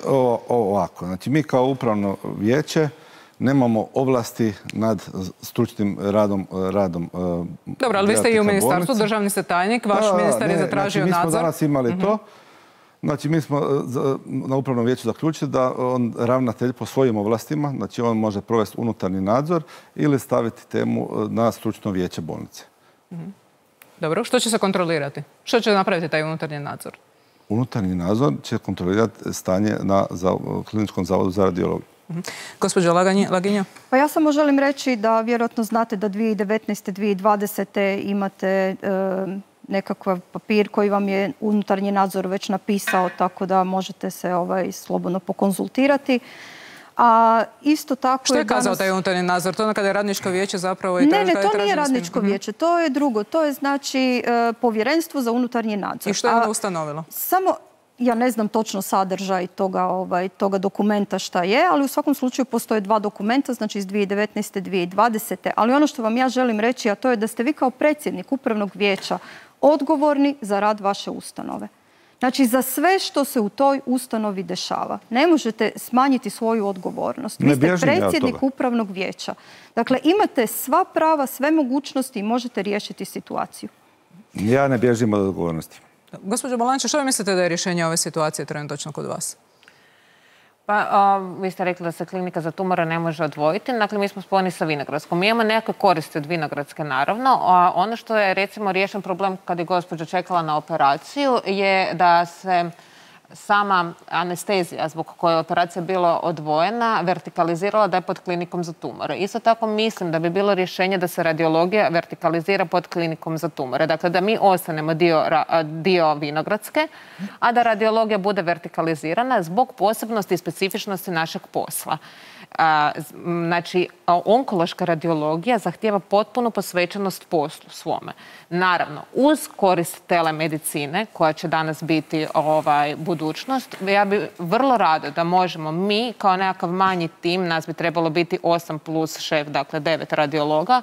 ovako. Znači, mi kao upravno vijeće nemamo ovlasti nad stručnim radom radom. Dobro, ali vi ste i u ministarstvu, državni ste tajnik, vaš ministar je zatražio nadzor. Mi smo danas imali to. Znači, mi smo na upravnom vijeću zaključili da on ravnatelj po svojim ovlastima, znači on može provesti unutarnji nadzor ili staviti temu na stručno vijeće bolnice. Dobro, što će se kontrolirati? Što će napraviti taj unutarnji nadzor? Unutarnji nadzor će kontrolirati stanje na Kliničkom zavodu za radiologiju. Gospođo Laginja? Pa ja samo želim reći da vjerojatno znate da dvije tisuće devetnaeste. dvije tisuće dvadesete. imate nekakav papir koji vam je unutarnji nadzor već napisao, tako da možete se ovaj, slobodno pokonzultirati. A isto tako što je kazao danas... taj unutarnji nadzor? To ono kada je radničko vijeće zapravo... I ne, ne, to nije radničko vijeće, to je drugo. To je znači povjerenstvo za unutarnji nadzor. I što je ono ustanovilo? Samo, ja ne znam točno sadržaj toga, ovaj, toga dokumenta šta je, ali u svakom slučaju postoje dva dokumenta, znači iz dvije tisuće devetnaeste. dvije tisuće dvadesete. Ali ono što vam ja želim reći, a to je da ste vi kao predsjednik upravnog vijeća odgovorni za rad vaše ustanove. Znači, za sve što se u toj ustanovi dešava. Ne možete smanjiti svoju odgovornost. Vi ste predsjednik upravnog vijeća. Dakle, imate sva prava, sve mogućnosti i možete riješiti situaciju. Ja ne bježim od odgovornosti. Gospođo Bolanča, što vi mislite da je rješenje ove situacije trenutno kod vas? Pa, a, vi ste rekli da se klinika za tumore ne može odvojiti. Dakle, mi smo spojeni sa Vinogradskom. Mi imamo nekakve koristi od Vinogradske, naravno. A ono što je, recimo, riješen problem kad je gospođa čekala na operaciju je da se sama anestezija zbog koje je operacija bila odvojena vertikalizirala da je pod klinikom za tumore. Isto tako mislim da bi bilo rješenje da se radiologija vertikalizira pod klinikom za tumore. Dakle, da mi ostanemo dio, dio Vinogradske, a da radiologija bude vertikalizirana zbog posebnosti i specifičnosti našeg posla. A, znači, onkološka radiologija zahtijeva potpunu posvećenost poslu svome. Naravno, uz korist telemedicine, koja će danas biti ovaj, budućnost, ja bi vrlo rado da možemo mi, kao nekakav manji tim, nas bi trebalo biti osam plus šef, dakle devet radiologa,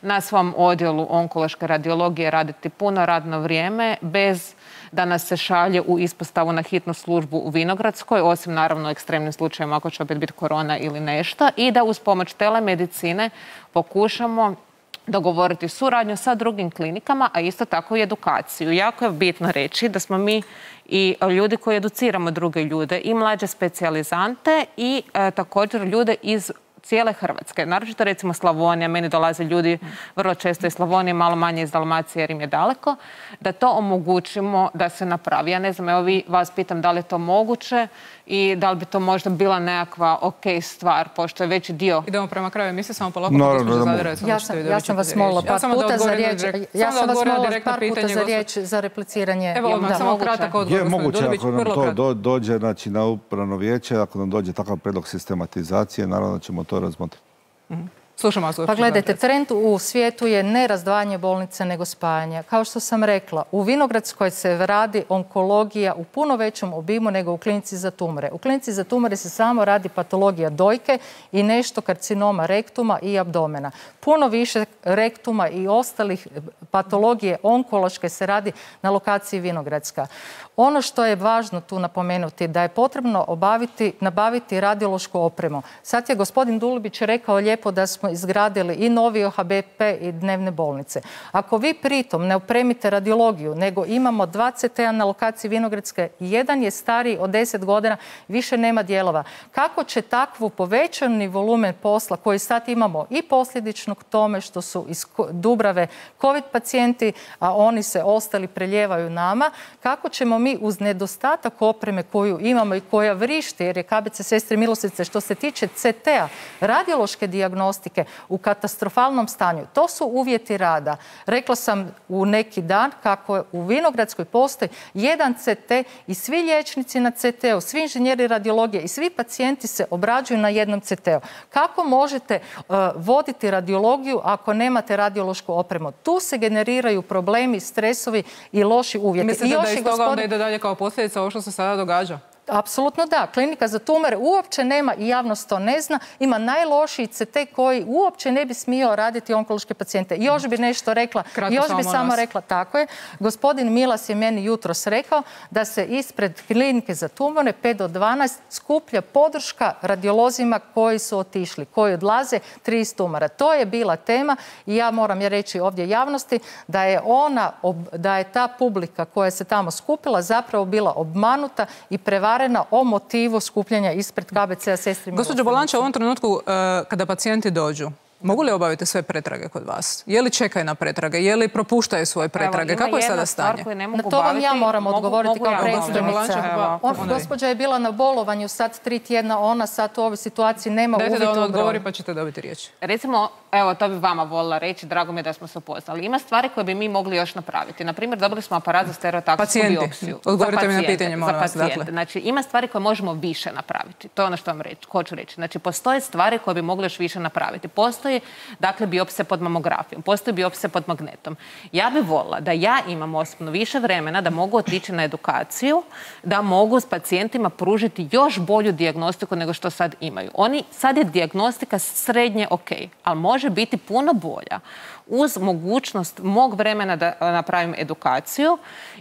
na svom odjelu onkološke radiologije raditi puno radno vrijeme, bez da nas se šalje u ispostavu na hitnu službu u Vinogradskoj, osim naravno u ekstremnim slučajevima ako će opet biti korona ili nešto, i da uz pomoć telemedicine pokušamo dogovoriti suradnju sa drugim klinikama, a isto tako i edukaciju. Jako je bitno reći da smo mi i ljudi koji educiramo druge ljude, i mlađe specijalizante i e, također ljude iz cijele Hrvatske. Naročito recimo Slavonija, meni dolaze ljudi vrlo često iz Slavonije, malo manje iz Dalmacije jer im je daleko, da to omogućimo da se napravi. Ja ne znam, evo vi vas pitam da li je to moguće i da li bi to možda bila nekakva ok stvar, pošto je veći dio... Idemo prema kraju emisije, samo polako, gospođa Zadravec. Ja sam, ja sam vas molila par puta za riječ. Ja sam vas molila par puta za riječ za repliciranje. Evo, odmah, samo kratak odgovor. Je moguće, ako nam to dođe, znači, na upravno vijeće, ako nam dođe takav predlog sistematizacije, naravno da ćemo to razmotriti. Slušamo vas. Pa gledajte, trend u svijetu je ne razdvajanje bolnice nego spajanje. Kao što sam rekla, u Vinogradskoj se radi onkologija u puno većem obimu nego u klinici za tumore. U klinici za tumore se samo radi patologija dojke i nešto karcinoma rektuma i abdomena. Puno više rektuma i ostalih patologije onkološke se radi na lokaciji Vinogradska. Ono što je važno tu napomenuti da je potrebno obaviti, nabaviti radiološku opremu. Sad je gospodin Dulibić rekao lijepo da smo izgradili i novi O H B P i dnevne bolnice. Ako vi pritom ne opremite radiologiju, nego imamo dva C T-a na lokaciji Vinogradske, jedan je stariji od deset godina, više nema dijelova. Kako će takvu povećani volumen posla koji sad imamo i posljedično k tome što su iz Dubrave COVID pacijenti, a oni se ostali preljevaju nama, kako ćemo mi uz nedostatak opreme koju imamo i koja vrišti, jer je K B C Sestre Milosrdnice što se tiče C T-a, radiološke dijagnostike, u katastrofalnom stanju. To su uvjeti rada. Rekla sam u neki dan kako u Vinogradskoj postoji jedan C T i svi liječnici na C T-u, svi inženjeri radiologije i svi pacijenti se obrađuju na jednom C T-u. Kako možete uh, voditi radiologiju ako nemate radiološku opremu? Tu se generiraju problemi, stresovi i loši uvjeti. Mislite da iz toga onda ide dalje kao posljedica ovo što se sada događa? Apsolutno da. Klinika za tumore uopće nema i javnost to ne zna. Ima najlošiji C T koji uopće ne bi smio raditi onkološke pacijente. Još bi nešto rekla, Kratko još samo bi samo nas. rekla, tako je. Gospodin Milas je meni jutros rekao da se ispred klinike za tumore pet do dvanaest skuplja podrška radiolozima koji su otišli, koji odlaze tri iz tumora. To je bila tema i ja moram je reći ovdje javnosti da je ona, da je ta publika koja se tamo skupila zapravo bila obmanuta i prevarena o motivu skupljanja ispred K B C-a Sestre Milosrdnice. Gospođo Bolanča, u ovom trenutku kada pacijenti dođu, mogu li obaviti sve pretrage kod vas? Je li čekaju na pretrage? Je li propuštaju svoje pretrage? Kako je sada stanje? Na to vam ja moram odgovoriti kao predsjednica. Gospođa je bila na bolovanju sad tri tjedna, ona sad u ovoj situaciji nema uvijek u broju. Dajte da ona odgovori pa ćete dobiti riječ. Recimo, evo, to bi vama volila reći, drago mi je da smo se upoznali. Ima stvari koje bi mi mogli još napraviti. Naprimjer, dobili smo aparat za stereotaksijsku biopsiju. Odgovorite mi na pitanje, molim vas. Znači, ima stvari koje možemo više napraviti. To je ono što vam reći, hoću reći. Znači, postoje stvari koje bi mogli još više napraviti. Postoji dakle biopsija pod mamografijom, postoji biopsija pod magnetom. Ja bih volila da ja imam osobno više vremena da mogu otići na edukaciju, da mogu s pacijentima pružiti još bolju dijagnostiku nego što sad imaju. Oni, sad je dijagnostika srednje ok, ali može biti puno bolja uz mogućnost mog vremena da napravim edukaciju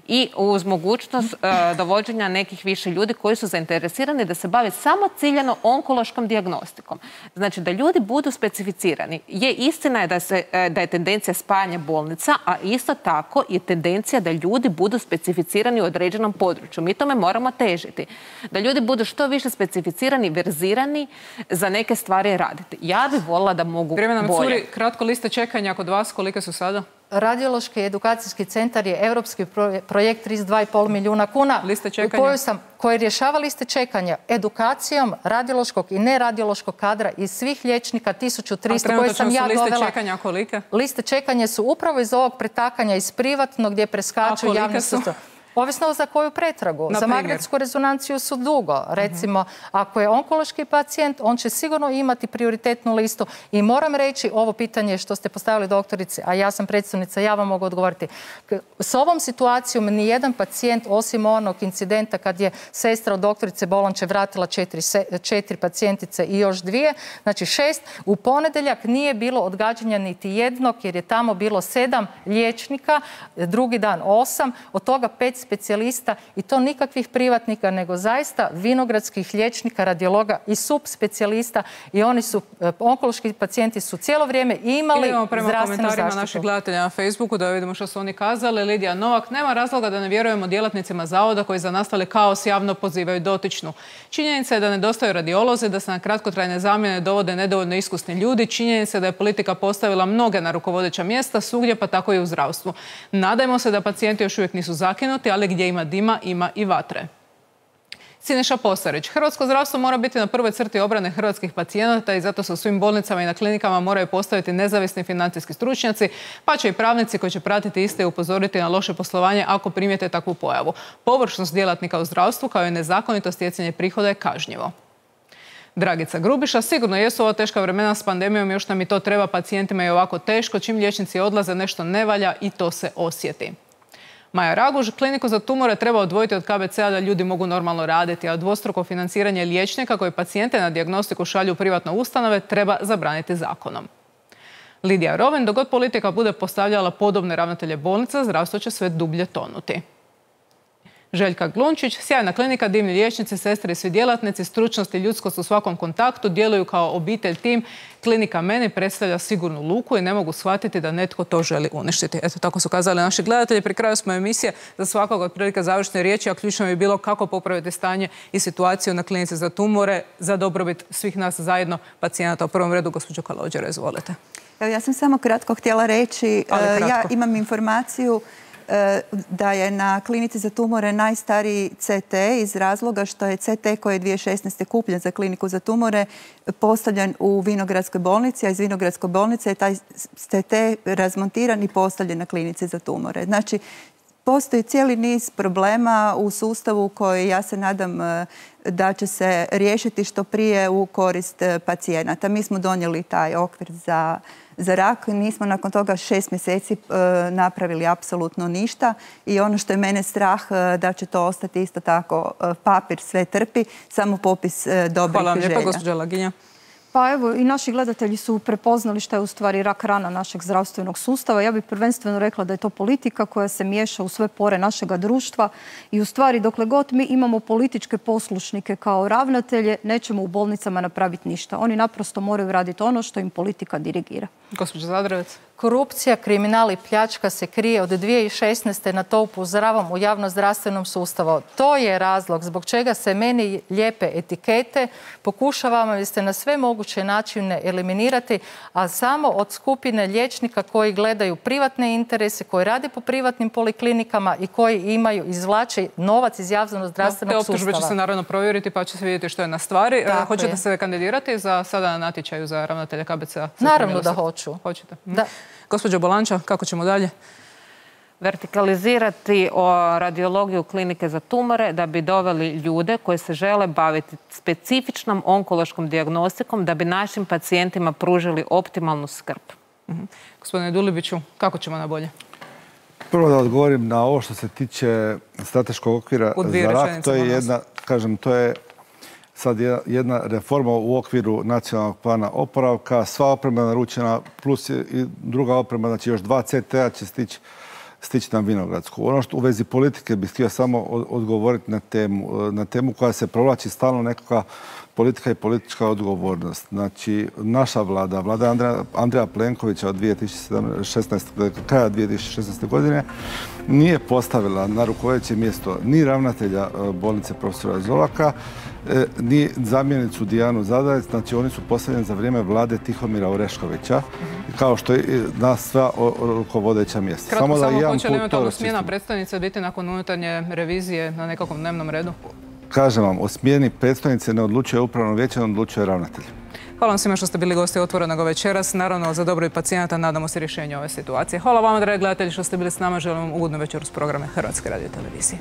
i uz mogućnost uh, dovođenja nekih više ljudi koji su zainteresirani da se bave samo ciljano onkološkom dijagnostikom. Znači da ljudi budu specificirani. Je istina je da, se, da je tendencija spajanja bolnica, a isto tako je tendencija da ljudi budu specificirani u određenom području. Mi tome moramo težiti. Da ljudi budu što više specificirani, verzirani za neke stvari raditi. Ja bih volila da mogu Vrijeme nam bolje. curi, kratko liste čekanja kod vas, kolike su sada? Radiološki edukacijski centar je europski projekt trideset dva i pol milijuna kuna liste čekanja. u kojoj sam, koji rješava liste čekanja edukacijom radiološkog i neradiološkog kadra iz svih liječnika tisuću tristo koje sam ja dovela. Liste čekanja kolike? Liste čekanja su upravo iz ovog pretakanja iz privatnog gdje preskaču javni sustav. Ovisno za koju pretragu. Za magnetsku rezonanciju su dugo. Recimo, ako je onkološki pacijent, on će sigurno imati prioritetnu listu i moram reći ovo pitanje što ste postavili doktorici, a ja sam predstavnica, ja vam mogu odgovoriti. S ovom situacijom nijedan pacijent, osim onog incidenta kad je sestra od doktorice Bolonče vratila četiri, četiri pacijentice i još dvije, znači šest, u ponedeljak nije bilo odgađanja niti jednog jer je tamo bilo sedam liječnika, drugi dan osam, od toga pet specijalista i to nikakvih privatnika, nego zaista vinogradskih liječnika, radiologa i subspecijalista i oni su, onkološki pacijenti su cijelo vrijeme imali Idemo prema zdravstvenu komentarima zaštitu. naših gledatelja na Facebooku da vidimo što su oni kazali. Lidija Novak, nema razloga da ne vjerujemo djelatnicima zavoda koji za nastali kaos javno pozivaju dotičnu. Činjenica je da nedostaju radiolozi, da se na kratkotrajne zamjene dovode nedovoljno iskusni ljudi. Činjenica je da je politika postavila mnoge na rukovodeća mjesta svugdje, pa tako i u zdravstvu. Nadajmo se da pacijenti još uvijek nisu zakinuti, ali gdje ima dima, ima i vatre. Siniša Posarić. Hrvatsko zdravstvo mora biti na prvoj crti obrane hrvatskih pacijenata i zato se u svim bolnicama i na klinikama moraju postaviti nezavisni financijski stručnjaci, pa će i pravnici koji će pratiti iste i upozoriti na loše poslovanje ako primijete takvu pojavu. Površnost djelatnika u zdravstvu kao i nezakonito stjecanje prihoda je kažnjivo. Dragica Grubiša, sigurno jesu ova teška vremena s pandemijom, još nam i to treba, pacijentima je ovako teško, čim liječnici odlaze nešto ne valja i to se osjeti. Maja Raguž, kliniku za tumore treba odvojiti od K B C-a da ljudi mogu normalno raditi, a dvostruko financiranje liječnika koji pacijente na dijagnostiku šalju u privatne ustanove treba zabraniti zakonom. Lidija Roven, dok god politika bude postavljala podobne ravnatelje bolnica, zdravstvo će sve dublje tonuti. Željka Glunčić, sjajna klinika, divni liječnici, sestre i svi djelatnici, stručnost i ljudskost u svakom kontaktu, djeluju kao obitelj, tim. Klinika meni predstavlja sigurnu luku i ne mogu shvatiti da netko to želi uništiti. Eto, tako su kazali naši gledatelji. Pri kraju smo emisije, za svakog otprilike završne riječi, a ključno bi bilo kako popraviti stanje i situaciju na klinici za tumore za dobrobit svih nas zajedno, pacijenata. U prvom redu, gospođo Kalođera, izvolite. Evo, ja sam samo kratko htjela reći, ja imam informaciju da je na klinici za tumore najstariji C T iz razloga što je C T koji je dvije tisuće šesnaeste kupljen za kliniku za tumore postavljen u Vinogradskoj bolnici, a iz Vinogradske bolnice je taj C T razmontiran i postavljen na klinici za tumore. Znači, postoji cijeli niz problema u sustavu koji ja se nadam da će se riješiti što prije u korist pacijenata. Mi smo donijeli taj okvir za Za rak nismo nakon toga šest mjeseci napravili apsolutno ništa i ono što je mene strah da će to ostati isto tako papir, sve trpi, samo popis dobrih želja. Hvala vam lijepa, gospođa Laginja. Pa evo, i naši gledatelji su prepoznali što je u stvari rak rana našeg zdravstvenog sustava. Ja bih prvenstveno rekla da je to politika koja se miješa u sve pore našega društva i u stvari dokle god mi imamo političke poslušnike kao ravnatelje, nećemo u bolnicama napraviti ništa. Oni naprosto moraju raditi ono što im politika dirigira. Gospođa Zadravec. Korupcija, kriminal i pljačka se krije od dvije tisuće šesnaeste. Na to upozoravam u javnozdravstvenom sustavu. To je razlog zbog čega se meni lijepe etikete. Pokušavamo jer ste na sve moguće načine eliminirati, a samo od skupine liječnika koji gledaju privatne interese, koji rade po privatnim poliklinikama i koji imaju, izvlače novac iz javnozdravstvenog sustava. Te optužbe će se naravno provjeriti pa će se vidjeti što je na stvari. Hoćete se kandidirati za sada na natječaju za ravnatelja K B C-a? Naravno da hoću. Hoćete? Da. Gospođo Bolanča, kako ćemo dalje? Vertikalizirati o radiologiju klinike za tumore da bi doveli ljude koji se žele baviti specifičnom onkološkom dijagnostikom da bi našim pacijentima pružili optimalnu skrb. Uh-huh. Gospodine Dulibiću, kako ćemo na bolje? Prvo da odgovorim na ovo što se tiče strateškog okvira za rak. To je jedna, kažem, to je sad jedna reforma u okviru nacionalnog plana oporavka, sva oprema naručena, plus i druga oprema, znači još dva C T-a će stići stići na Vinogradsku. Ono što u vezi politike bih htio samo odgovoriti na temu, na temu koja se provlači stalno nekakva politika i politička odgovornost. Znači, naša vlada, vlada Andreja, Andreja Plenkovića od dvije tisuće šesnaeste. kraja dvije tisuće šesnaeste. godine nije postavila na rukovodeće mjesto ni ravnatelja bolnice profesora Zolaka, ni zamjenicu Dijanu Zadravec, znači oni su postavljeni za vrijeme vlade Tihomira Oreškovića, kao što je na sva rukovodeća mjesta. Kratko samo, samo hoće li eventualno smjena predstojnice biti nakon unutarnje revizije na nekakvom dnevnom redu? Kažem vam, o smjeni predstojnice ne odlučuje upravno vijeće, ne odlučuje ravnatelj. Hvala vam svima što ste bili gosti Otvorenog večeras. Naravno, za dobrobit pacijenata nadamo se rješenju ove situacije. Hvala vama, dragi gledatelji, što ste bili s nama. Želim vam ugodnu večeru s programe Hrvatske radiotelevizije.